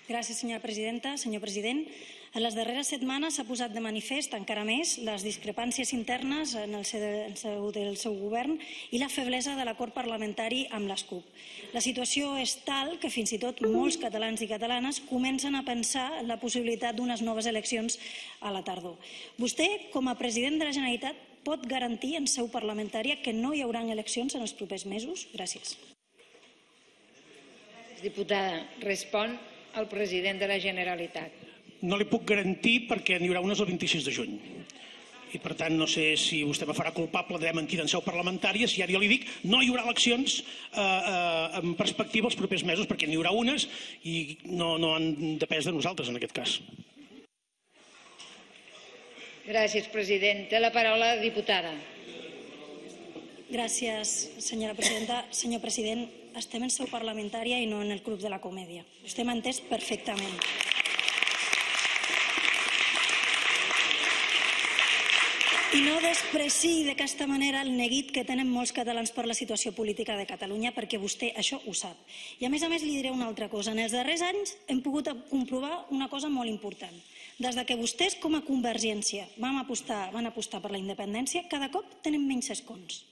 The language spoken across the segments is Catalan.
Gràcies, senyora presidenta. Senyor president, en les darreres setmanes s'ha posat de manifest encara més les discrepàncies internes en el del seu govern i la feblesa de l'acord parlamentari amb les CUP. La situació és tal que fins i tot molts catalans i catalanes comencen a pensar en la possibilitat d'unes noves eleccions a la tardor. Vostè, com a president de la Generalitat, pot garantir en seu parlamentària que no hi haurà eleccions en els propers mesos? Gràcies. Diputada, respon el president de la Generalitat. No li puc garantir perquè n'hi haurà unes el 26 de juny. I per tant no sé si vostè me farà culpable d'haver mentit en seu parlamentària, si ara jo li dic no hi haurà eleccions en perspectiva els propers mesos, perquè n'hi haurà unes i no han depès de nosaltres en aquest cas. Gràcies, president. Té la paraula la diputada. Gràcies, senyora presidenta. Senyor president, estem en seu parlamentària i no en el club de la comèdia. Vostè m'ha entès perfectament. I no despreciï d'aquesta manera el neguit que tenen molts catalans per la situació política de Catalunya, perquè vostè això ho sap. I a més, li diré una altra cosa. En els darrers anys hem pogut comprovar una cosa molt important. Des que vostès, com a Convergència, van apostar per la independència, cada cop tenen menys escons.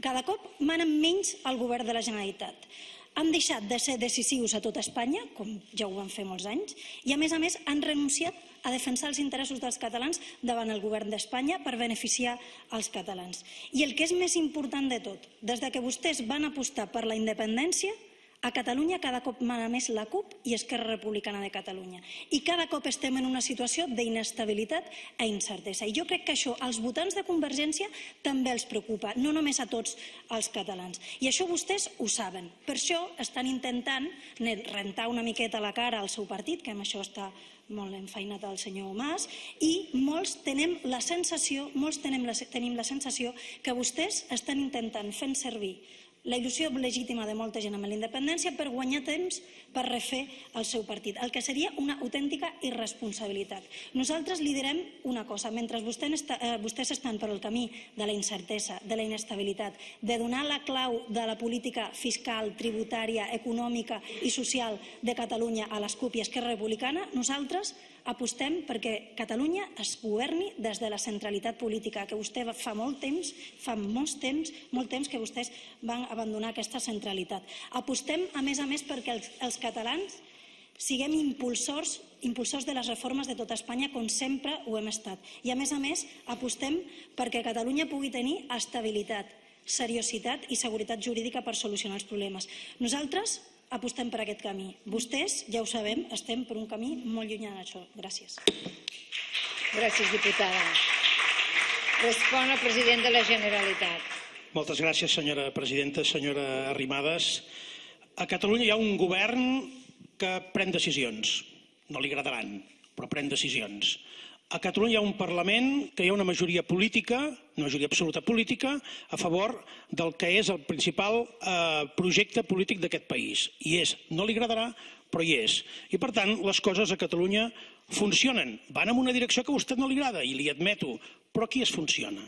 Cada cop manen menys al govern de la Generalitat. Han deixat de ser decisius a tot Espanya, com ja ho van fer molts anys, i a més han renunciat a defensar els interessos dels catalans davant el govern d'Espanya per beneficiar els catalans. I el que és més important de tot, des que vostès van apostar per la independència, a Catalunya cada cop mana més la CUP i Esquerra Republicana de Catalunya. I cada cop estem en una situació d'inestabilitat i incertesa. I jo crec que això als votants de Convergència també els preocupa, no només a tots els catalans. I això vostès ho saben. Per això estan intentant rentar una miqueta la cara al seu partit, que amb això està molt enfeinat el senyor Mas, i molts tenim la sensació que vostès estan intentant fer servir la il·lusió legítima de molta gent amb la independència per guanyar temps per refer el seu partit, el que seria una autèntica irresponsabilitat. Nosaltres li direm una cosa, mentre vostès estan per el camí de la incertesa, de la inestabilitat, de donar la clau de la política fiscal, tributària, econòmica i social de Catalunya a les CUP i Esquerra Republicana, nosaltres apostem perquè Catalunya es governi des de la centralitat política, que vostè fa molt temps que vostès van abandonar aquesta centralitat. Apostem, a més, perquè els catalans siguem impulsors de les reformes de tot Espanya, com sempre ho hem estat. I, a més, apostem perquè Catalunya pugui tenir estabilitat, seriositat i seguretat jurídica per solucionar els problemes. Nosaltres apostem per aquest camí. Vostès, ja ho sabem, estem per un camí molt llunyà d'això. Gràcies. Gràcies, diputada. Respon el president de la Generalitat. Moltes gràcies, senyora presidenta. Senyora Arrimadas, a Catalunya hi ha un govern que pren decisions. No li agradaran, però pren decisions. A Catalunya hi ha un Parlament que hi ha una majoria política, una majoria absoluta política, a favor del que és el principal projecte polític d'aquest país. I és, no li agradarà, però hi és. I per tant, les coses a Catalunya funcionen. Van en una direcció que a vostè no li agrada, i li admeto, però aquí es funciona.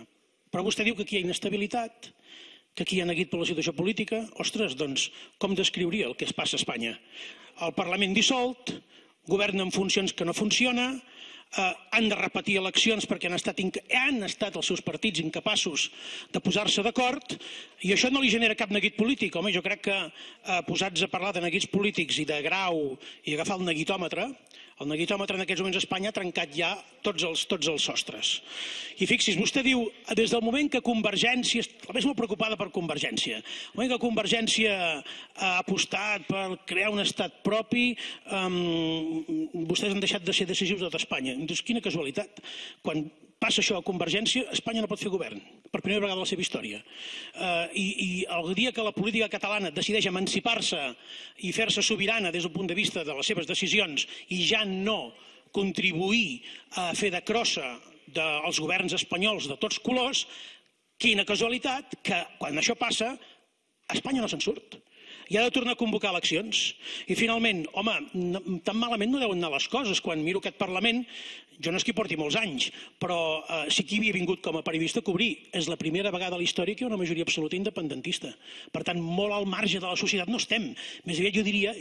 Però vostè diu que aquí hi ha inestabilitat, que aquí hi ha neguit per la situació política. Ostres, doncs, com descriuria el que es passa a Espanya? El Parlament dissolt, govern en funcions que no funciona, han de repetir eleccions perquè han estat els seus partits incapaços de posar-se d'acord, i això no li genera cap neguit polític. Home, jo crec que posats a parlar de neguits polítics i de grau i agafar el neguitòmetre en aquests moments a Espanya ha trencat ja tots els sostres. I fixi's, vostè diu, des del moment que Convergència, la més molt preocupada per Convergència, el moment que Convergència ha apostat per crear un estat propi, vostès han deixat de ser decisius de tot Espanya. Doncs quina casualitat. Quan passa això a Convergència, Espanya no pot fer govern, per primera vegada a la seva història. I el dia que la política catalana decideix emancipar-se i fer-se sobirana des del punt de vista de les seves decisions i ja no contribuir a fer de crossa dels governs espanyols de tots colors, quina casualitat que quan això passa, Espanya no se'n surt. i ha de tornar a convocar eleccions. I finalment, home, tan malament no deuen anar les coses. Quan miro aquest Parlament, jo no és que hi porti molts anys, però sí que hi havia vingut com a periodista a cobrir. És la primera vegada a la història que hi ha una majoria absoluta independentista. Per tant, molt al marge de la societat no estem. Més aviat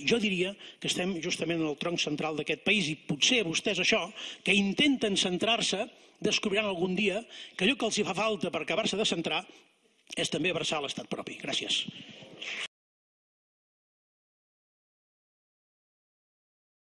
jo diria que estem justament en el tronc central d'aquest país i potser vostès això, que intenten centrar-se, descobriran algun dia que allò que els hi fa falta per acabar-se de centrar és també abraçar l'estat propi. Gràcies.